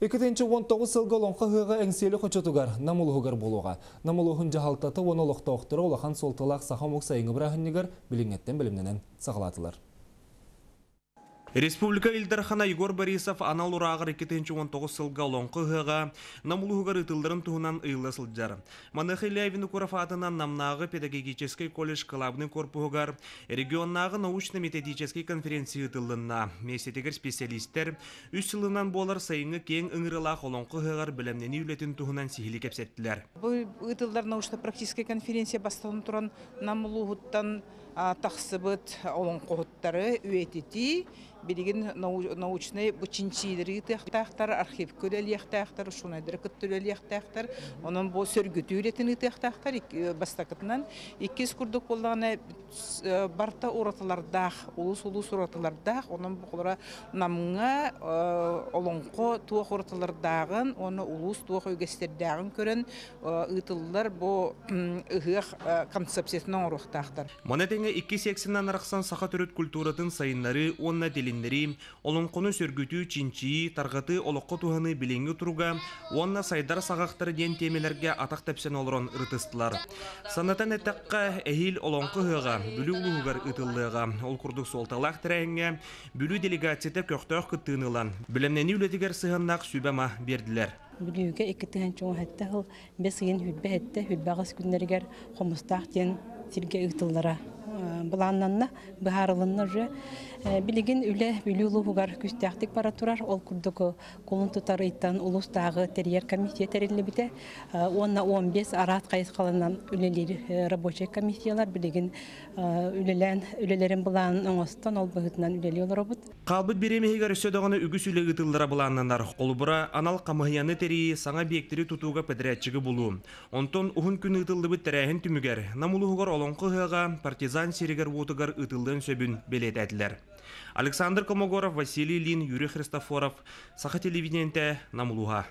2019 сылғы олонқа хыға әңселі қочатугар намылығығар болуға. Намылығын жағалтаты оны олықта оқтыры олақан солтылақ сақамық сайыңы бірағыннегар біліңеттен білімненен сағалатылар. Республика Илдархана Егор Борисов анал урағыр 2019 сылға олонқы хыға намылығығар ұтылдырын туғынан ұйлы сылджар. Манықы Лявины Курафатынан намнағы педагогический колледж калабының корпуғығар регионнағы научно-методический конференция ұтылдынна. Месетегер специалистер үс сылынан болар сайыңы кең ұңырылақ олонқы хығар білімнені үлетін туғынан сихілі кепсеттілер. Бұл ұтылдар научно-практический конференция бастығын тұран намылығыттан тақсыбыт олонқығыттары үйететі, билигин научный бучинчилери тахтар архив көлелияхтахтар шунайдыр көттөлелияхтахтар онун бу сөргүтүлетин тахтар бастакытынан 2 курдук болганы барта ураталардах улус ураталардах онун букулара намга олонко туох ураталардагын оны улус туох өгестердагын көрөн ытыллар бу ыгых концепциясынан урухтахтар. Монетеңе 2 сексинан араксан саха төрөт культуратын сайыннары онна олонқоны сөргүтүү чинчи таргаты олоққы туһаны билеңги туруга онна сайдар сагактары ден темелерге атак тепсен олорон ыртыстылар. Санатан этакка эхил олонқы хыга бүлү улугар ытыллыга ол курдук солталак тереңге бүлү делегацияда көктөк кыттыынылан билемнени үлетигер сыганнак сүбама бердилер. Бүлүгө 2 хатта хыл бесген хүлбе хатта хүлбагыс күннергер хомустак ден сирге ытыллара буланнанна бахарылынна же билигин үле бүлүлү хугар күстәктик бара турар ол курдук колун тутарыйттан улустагы терьер комиссия терилибите 10-15 арат кайыс калынан үлелер рабочий комиссиялар билигин үлелерин булан оңостон ол быгытынан үлелер робот калбыт беремегер өсөдөгөнө үгүс үле ытылдыра буланнанар колубура анал камыяны тери саңа биектери тутууга педрячыгы булуу онтон ухун күн ытылдыбыт терехин түмүгер намулугар олонкы хыга партизан сиригер вутугар ытылдын сөбүн белететилер. Александр Комогоров, Василий Лин, Юрий Христофоров, Саха телевидениенте, Намулуга.